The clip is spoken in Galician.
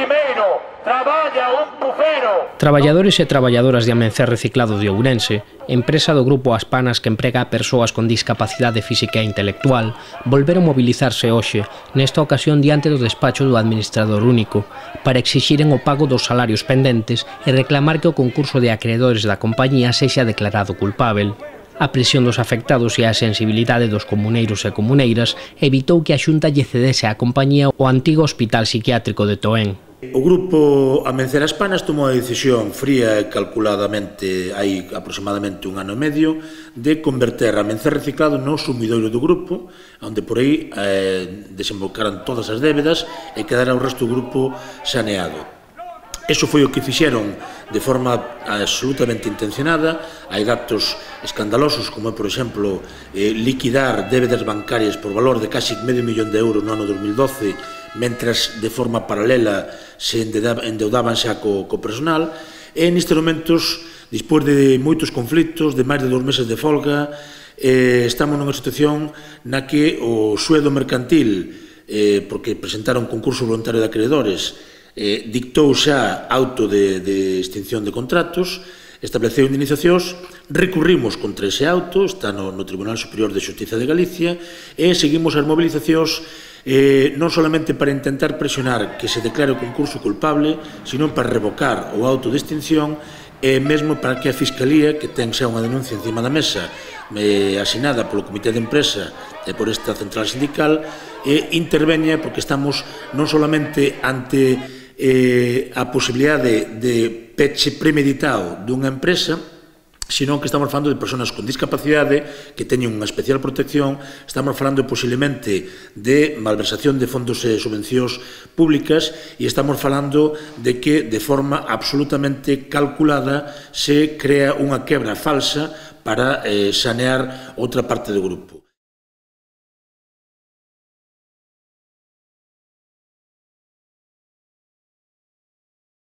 primeiro, traballa un bufero. Traballadores e traballadoras de Amencer Reciclado de Ourense, empresa do grupo As Panas que emprega a persoas con discapacidade física e intelectual, volveron mobilizarse hoxe, nesta ocasión diante do despacho do administrador único, para exixiren o pago dos salarios pendentes e reclamar que o concurso de acreedores da compañía sexa declarado culpável. A presión dos afectados e a sensibilidade dos comuneiros e comuneiras evitou que a Xunta lle cedese á compañía o antigo Hospital Psiquiátrico de Toén. O grupo Amencer As Panas tomou a decisión fría e calculadamente hai aproximadamente 1 ano e medio de converter a Amencer Reciclado no sumidoiro do grupo, onde por aí desembocaran todas as débedas e quedara o resto do grupo saneado. Eso foi o que fixeron de forma absolutamente intencionada. Hai datos escandalosos, como é, por exemplo, liquidar débedas bancarias por valor de casi medio millón de euros no ano 2012, mentras de forma paralela se endeudaban xa co personal. E nestes momentos, despois de moitos conflitos, de máis de 2 meses de folga, estamos nunha situación na que o sueldo mercantil, porque presentaron un concurso voluntario de acreedores, dictou xa auto de extinción de contratos, estableceu indemnizacións, recurrimos contra ese auto, está no Tribunal Superior de Xustiza de Galicia, e seguimos as mobilizacións non solamente para intentar presionar que se declare o concurso culpable, sino para revocar o auto de extinción e mesmo para que a Fiscalía, que ten xa unha denuncia encima da mesa asinada polo Comité de Empresa e por esta central sindical, interveña, porque estamos non solamente ante a posibilidade de peche premeditado dunha empresa, sino que estamos falando de persoas con discapacidade que teñen unha especial protección, estamos falando posiblemente de malversación de fondos e subvencións públicas e estamos falando de que de forma absolutamente calculada se crea unha quebra falsa para sanear outra parte do grupo.